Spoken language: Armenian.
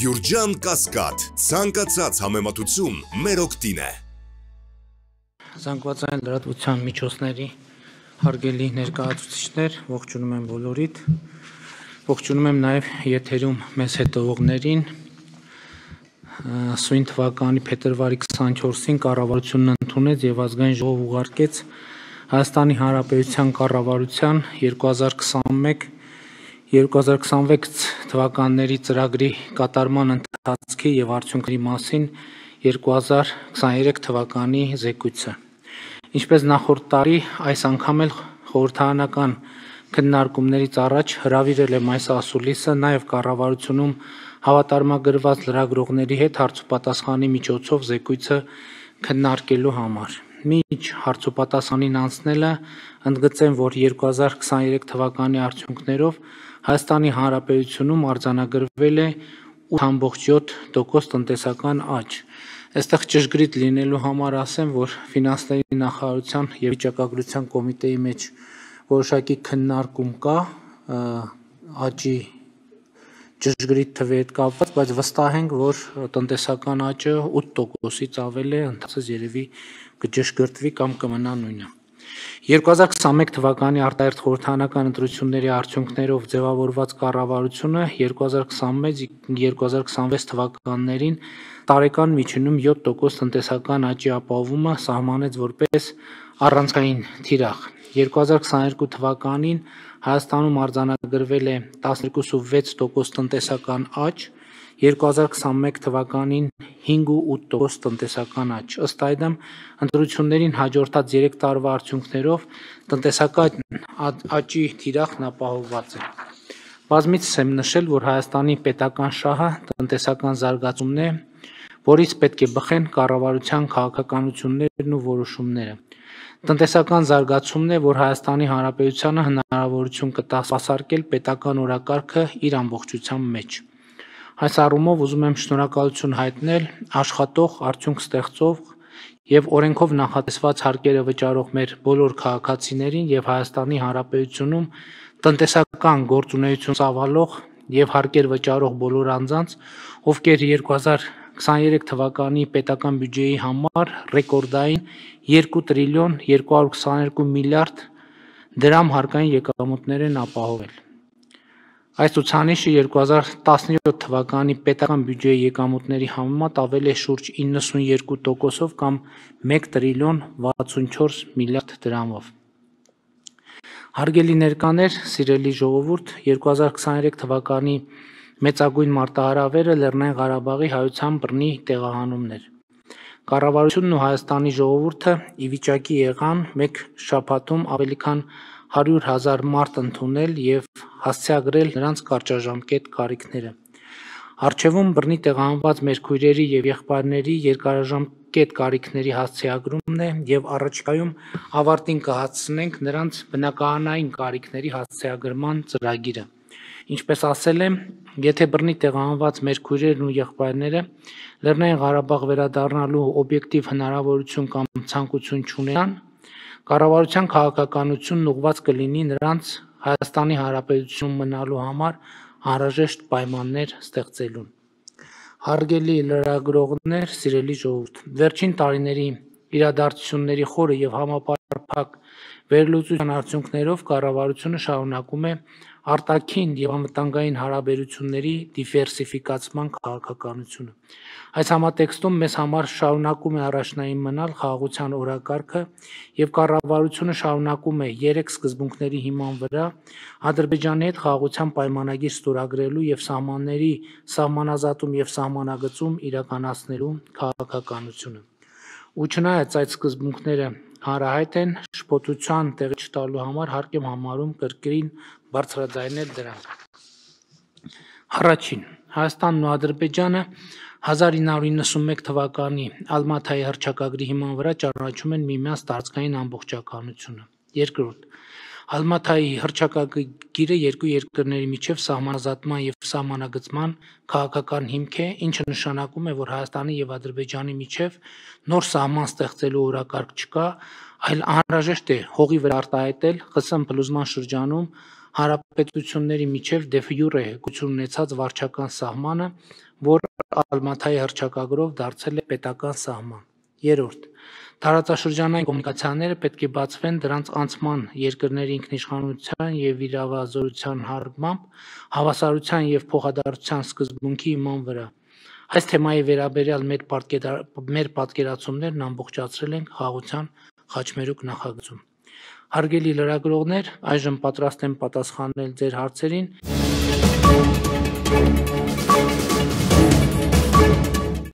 Գյուրջան Կասկադ, ցանկացած համեմատություն մեր օգտին է։ Զանգվածային լրատվության միջոցների հարգելի ներկայացուցիչներ, ողջունում եմ բոլորիդ, ողջունում եմ նաև եթերում մեզ հետևողներին։ Սույն թվականի փետրվարի 24-ին կառավարությունն ընդունեց եւ ազգային ժողով ուղարկեց Հայաստանի Հանրապետության կառավարության 2021-2026 թվականների ծրագրի կատարման ընթացքի եւ արդյունքների մասին 2023 թվականի զեկույցը։ Ինչպես նախորդ տարի, այս անգամ էլ խորհրդարանական քննարկումներից առաջ հրավիրել եմ այս ասուլիսը նաև կառավարությունում հավատարմագրված լրագրողների հետ հարցուպատասխանի միջոցով զեկույցը քննարկելու համար։ Մինչ հարցուպատասխանին անցնելը ընդգծեմ, որ 2023 թվականի արդյունքներով Հայաստանի Հանրապետությունում արձանագրվել է 8.7% տնտեսական աճ։ Այստեղ ճշգրիտ լինելու համար ասեմ, որ ֆինանսների նախարարության եւ վիճակագրության կոմիտեի մեջ որոշակի քննարկում կա աճի ճշգրիտ թվի հետ կապված, բայց վստահ ենք, որ տնտեսական աճը 8%-ից ավել է, ընդհանրապես երևի կճշգրտվի կամ կմնա նույնը։ 2021 թվականի արտահերթ խորհրդարանական ընտրությունների արդյունքներով ձևավորված կառավարությունը 2021-2026 թվականներին տարեկան միջինում 7% տնտեսական աճի ապահովումը սահմանեց որպես առանցքային թիրախ։ 2022 թվականին Հայաստանում արձանագրվել է 12.6% տնտեսական աճ, 2021 թվականին 5.8% տնտեսական աճ։ Ըստ այդմ, ընտրություններին հաջորդած 3 տարվա արդյունքներով տնտեսական աճի թիրախն ապահովված է։ Բազմիցս եմ նշել, որ Հայաստանի պետական շահը տնտեսական զարգացումն է, որից պետք է բխեն կառավարության քաղաքականություններն ու որոշումները։ Տնտեսական զարգացումն է, որ Հայաստանի Հանրապետությանը հնարավորություն կտա սպասարկել պետական օրակարգը իր ամբողջության մեջ։ Այս առումով ուզում եմ շնորհակալություն հայտնել աշխատող, արդյունք ստեղծող եւ օրենքով նախատեսված հարկերը վճարող մեր բոլոր քաղաքացիներին եւ Հայաստանի Հանրապետությունում տնտեսական գործունեություն ծավալող եւ հարկեր վճարող բոլոր անձանց, ովքեր 2023 թվականի պետական բյուջեի համար ռեկորդային 2 տրիլիոն 222 միլիարդ դրամ հարկային եկամուտներ են ապահովել։ Այս ցուցանիշը 2017 թվականի պետական բյուջեի եկամուտների համեմատ ավել է շուրջ 92%-ով կամ 1 տրիլիոն 64 միլիարդ դրամով։ Հարգելի ներկաներ, սիրելի ժողովուրդ, 2023 թվականի մեծագույն մարտահրավերը Լեռնային Ղարաբաղի հայության բռնի տեղահանումն էր։ Կառավարությունն ու Հայաստանի ժողովուրդը ի վիճակի եղան մեկ շաբաթում ավելի քան 100,000 մարդ ընդունել եւ հասցեագրել նրանց կարճաժամկետ կարիքները։ Առջևում բռնի տեղահանված մեր քույրերի եւ եղբայրների երկարաժամկետ կարիքների հասցեագրումն է եւ առաջիկայում ավարտին կհասցնենք նրանց բնակարանային կարիքների հասցեագրման ծրագիրը։ Ինչպես ասել եմ, եթե բռնի տեղահանված մեր քույրերն ու եղբայրները Լեռնային Ղարաբաղ վերադառնալու օբյեկտիվ հնարավորություն կամ ցանկություն չունենան, կառավարության քաղաքականությունն ուղղված կլինի նրանց Հայաստանի Հանրապետությունում մնալու համար անհրաժեշտ պայմաններ ստեղծելուն։ Հարգելի լրագրողներ, սիրելի ժողովուրդ, վերջին տարիների իրադարձությունների խորը եւ համապարփակ վերլուծության արդյունքներով կառավարությունը շարունակում է արտաքին եւ անվտանգային հարաբերությունների դիվերսիֆիկացման քաղաքականությունը։ Այս համատեքստում մեզ համար շարունակում է առաջնային մնալ խաղաղության օրակարգը եւ կառավարությունը շարունակում է 3 սկզբունքների հիման վրա Ադրբեջանի հետ խաղաղության պայմանագիր ստորագրելու եւ սահմանների սահմանազատում եւ սահմանագծում իրականացնելու քաղաքականությունը։ Ու չնայած այդ սկզբունքները հանրահայտ են, շփոթության տեղի չտալու համար հարկ եմ համարում կրկին բարձրաձայնել դրանք։ Առաջին, Հայաստանն ու Ադրբեջանը 1991 թվականի Ալմաթայի հռչակագրի հիման վրա ճանաչում են միմյանց տարածքային ամբողջականությունը։ Երկրորդ, Ալմաթայի հռչակագիրը երկու երկրների միջև սահմանազատման եւ սահմանագծման քաղաքական հիմք է, ինչը նշանակում է, որ Հայաստանի եւ Ադրբեջանի միջև նոր սահման ստեղծելու օրակարգ չկա, այլ անհրաժեշտ է հողի վրա արտահայտել ԽՍՀՄ փլուզման շրջանում հանրապետությունների միջև դե յուրե գույություն ունեցած վարչական սահմանը, որ Ալմաթայի հռչակագրով դարձել է պետական սահման։ Երրորդ, տարածաշրջանային կոմունիկացիաները պետք է բացվեն դրանց անցման երկրների ինքնիշխանության և իրավազորության հարգմամբ, հավասարության և փոխադարձության սկզբունքի հիման վրա։ Այս թեմայի վերաբերյալ մեր պատկերացումներն ամբողջացրել ենք խաղաղության խաչմերուկ նախագծում։ Հարգելի լրագրողներ, այժմ պատրաստ եմ պատասխանել ձեր հարցերին։